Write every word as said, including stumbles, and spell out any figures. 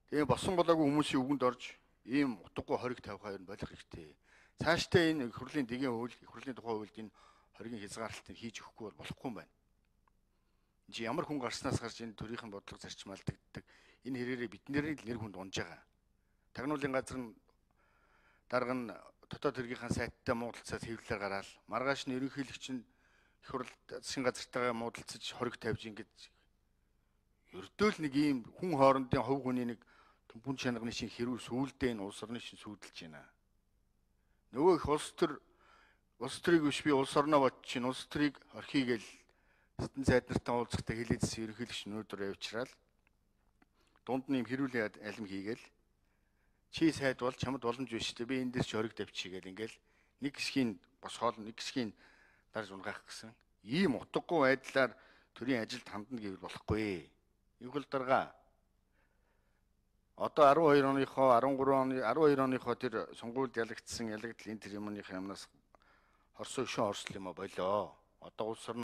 Тэгээ босон болоогүй хүмүүсийн үгэнд орж ийм утгагүй хориг тавих хоёр нь болох хэрэгтэй. Цаашдаа энэ их хурлын дэгийн хууль, их хурлын тухай хуульд энэ хоригийн хязгаарлалтыг хийж өгөхгүй бол болохгүй юм байна. Энд чи ямар хүн гарснаас гарч энэ төрийнхэн бодлого зарчмаалдагддаг. Энэ хэрээрээ бидний л нэр хүнд унж байгаа. Тагнуулын газар нь дарга нь дотоод хэргийнхаа сайттай муудалцаад хэвлэлээр гараад маргааш нь ерөнхийлөгч нь их хурл засгийн газартайгаа муудалцаж хориг тавьж ингэж ердөө л нэг ийм хүн хоорондын хувь хүний нэг түн чанарны шин хэрүүл сүулдэ энэ улс орны шин сүудэлж байна. Нөгөө их улс төр улс төрийг биш би улс орноо бод чинь улс төрийг орхигээл Сэтэн сайд нартай уулзахтаа хэлээдсэн ерөнхийлөгч өнөөдөр явчраад дунд нь юм хэрүүлийн алим хийгээл чи сайд бол чамд боломж биш дээ би энэ дээр ч хориг тавьчихъя гэл ингээл нэг хэсгийн босгоол нэг хэсгийн дарж унгаах гэсэн ийм утгагүй байдлаар төрийн ажилд хандна гэвэл болохгүй. Их хурл дарга одоо арван хоёр оныхоо арван гурван оны арван хоёр оныхоо тэр сонгуульд ялагдсан ялагдал энэ тэр юмных юмнаас хорсон шин орсол юм а болоо. Одоо улс орны